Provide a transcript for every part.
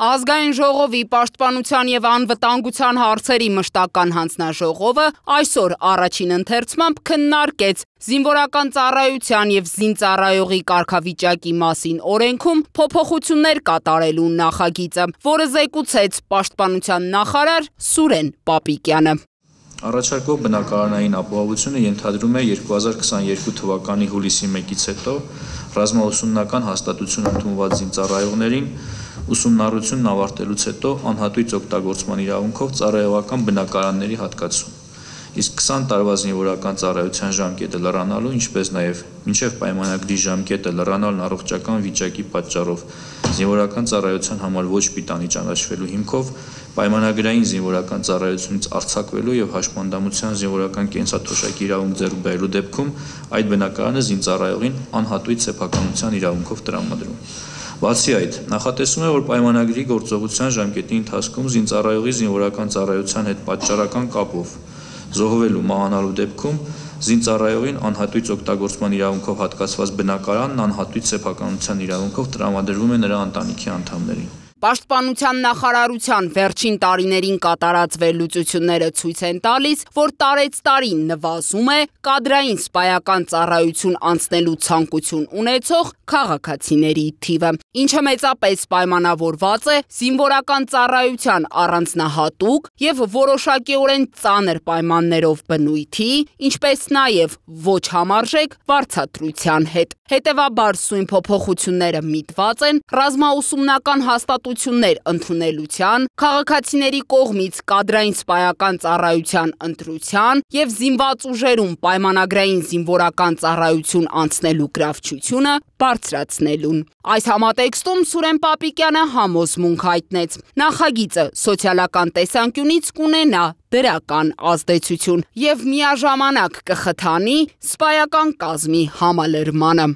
Ազգային ժողովի պաշտպանության և անվտանգության հարցերի մշտական հանձնաժողովը այսօր առաջին ընթերցմամբ քննարկեց զինվորական ծառայության և զինծառայողի կարգավիճակի մասին օրենքում փոփոխություններ կատարելու նախագիծը, որը զեկուցեց պաշտպանության նախարար Սուրեն Պապիկյանը։ Առաջարկվող բնակարանային ապահովությունը ենթադրում է 2022 թվականի հուլիսի 1-ից հետո ռազմաուսումնական հաստատություն ընդունված զինծառայողներին ուսումնառությունն ավարտելուց հետո անհատույց օգտագործման իրավունքով ծառայողական բնակարանների հատկացում, իսկ 20 տարվա զինվորական ծառայության ժամկետը լրանալու, ինչպես նաև մինչև պայմանագրի ժամկետը լրանալն առողջական վիճակի պատճառով զինվորական ծառայության համար ոչ պիտանի ճանաչվելու հիմքով պայմանագրային զինվորական ծառայությունից արձակվելու և հաշմանդամության զինվորական կենսաթոշակի իրավունք ձեռք բերելու դեպքում այդ բնակարանը զինծառայողին անհատույց սեփականության իրավունքով տրամադրում։ Բացի այդ, նախատեսվում է, որ պայմանագրի գործողության ժամկետի ընթացքում զինծառայողի զինվորական ծառայության հետ պատճառական կապով զոհվելու մահանալու դեպքում զինծառայողին անհատույց օգտագործման իրավունքով հատկացված բնակարանն անհատույց սեփականության իրավունքով տրամադրվում է նրա ընտանիքի անդամներին։ Պաշտպանության նախարարության վերջին տարիներին կատարած վերլուծությունները ցույց են տալիս, որ տարեցտարի նվազում է կադրային սպայական ծառայություն անցնելու ցանկություն ունեցող քաղաքացիների թիվը, ինչը մեծապես պայմանավորված է զինվորական ծառայության առանձնահատուկ և որոշակիորեն ծանր պայմաններով բնույթի, ինչպես նաև ոչ համարժեք վարձատրության հետ։ Հետևաբար սույն փոփոխությունները միտված են ռազմաուսումնական հաստատություններ ընդունելության, քաղաքացիների կողմից կադրային սպայական ծառայության ընտրության և զինված ուժերում պայմանագրային զինվորական ծառայություն անցնելու գրավչությունը բարձրացնելուն։ Այս համատեքստում Սուրեն Պապիկյանը համոզմունք հայտնեց. նախագիծը սոցիալական տեսանկյունից կունենա դրական ազդեցություն և միաժամանակ կխթանի սպայական կազմի համալրմանը։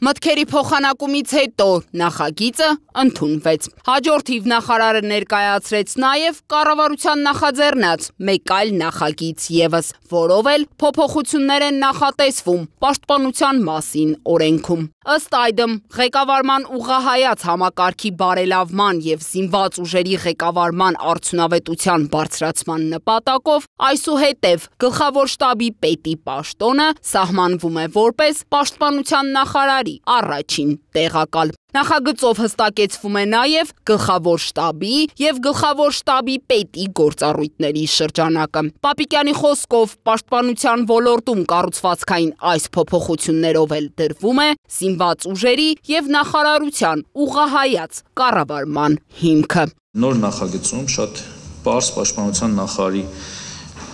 Մտքերի փոխանակումից հետո նախագիծը ընդունվեց։ Հաջորդ թիվ նախարարը ներկայացրեց նաև կառավարության նախաձեռնած մեկ այլ նախագիծ ևս, որով էլ փոփոխություններ են նախատեսվում պաշտպանության մասին օրենքում։ Ըստ այդմ, ղեկավարման ուղղահայաց համակարգի բարելավման և զինված ուժերի ղեկավարման արդյունավետության բարձրացման նպատակով այսուհետև գլխավոր շտաբի պետի պաշտոնը սահմանվում է որպես պաշտպանության նախարարի առաջին տեղակալ։ Նախագծով հստակեցվում է նաև գլխավոր շտաբի և գլխավոր շտաբի պետի գործառույթների շրջանակը։ Պապիկյանի խոսքով պաշտպանության ոլորտում կառուցվածքային այս փոփոխություններով էլ դրվում է զինված ուժերի և նախարարության ուղղահայաց կառավարման հիմքը։ Նոր նախագծում շատ պարզ պաշտպանության նախարարի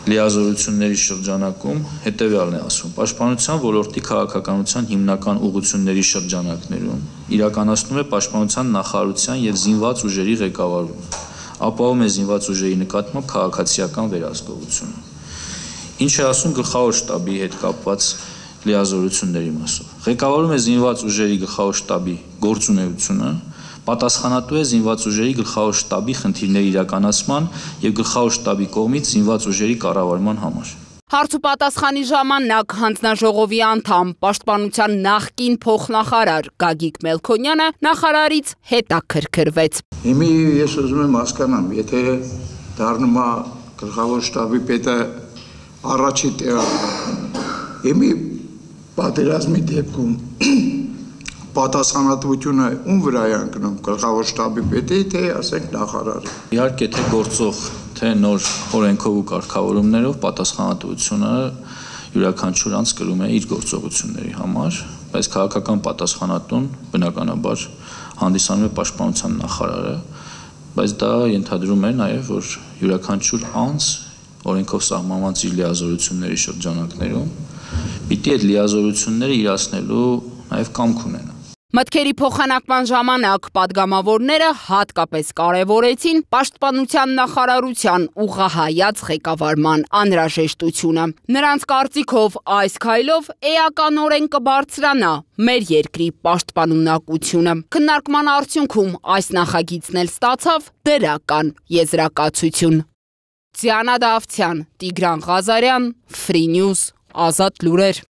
լիազորությունների շրջանակում հետևյալն է ասում. պաշտպանության ոլորտի քաղաքականության հիմնական ուղղությունների շրջանակներում իրականացնում է պաշտպանության նախարարության և զինված ուժերի ղեկավարումը, ապահովում է զինված ուժերի նկատմամբ քաղաքացիական վերահսկողությունը։ Ինչ է ասում գլխավոր շտաբի հետ կապված լիազորությունների մասով։ Ղեկավարում է զինված ուժերի գլխավոր շտաբի գործունեությունը, պատասխանատու է զինված ուժերի գլխավոր շտաբի խնդիրների իրականացման և գլխավոր շտաբի կողմից զինված ուժերի կառավարման համար։ Հարց ու պատասխանի ժամանակ հանձնաժողովի անդամ պաշտպանության նախկին փոխնախարար Գագիկ Մելքոնյանը նախարարից հետաքրքրվեց։ Հիմի ես ուզում եմ հասկանամ, եթե դառնում է գլխավոր շտաբի պետը առաջի տեղակալը, հիմի պատերազմի դեպքում պատասխանատվությունը ում վրա է ընկնում, գլխավոր շտաբի պետի, թե ասենք նախարարի։ Իհարկե, թե գործող, թե նոր օրենքով ու կարգավորումներով պատասխանատվությունը յուրաքանչյուր անձ կրում է իր գործողությունների համար, բայց քաղաքական պատասխանատուն բնականաբար հանդիսանում է պաշտպանության նախարարը, բայց դա ենթադրում է նաև, որ յուրաքանչյուր անձ օրենքով սահմանված իր լիազորությունների շրջանակներում պիտի այդ լիազորությունները իրացնելու նաև կամք ունենա։ Մտքերի փոխանակման ժամանակ պատգամավորները հատկապես կարևորեցին պաշտպանության նախարարության ուղղահայաց ղեկավարման անհրաժեշտությունը։ Նրանց կարծիքով այս քայլով էականորեն կբարձրանա մեր երկրի պաշտպանունակությունը։ Քննարկման արդյունքում այս նախագիծն էլ ստացավ դրական եզրակացություն։ Դիանա Դավթյան, Տիգրան Ղազարյան, Free News, Ազատ լուրեր։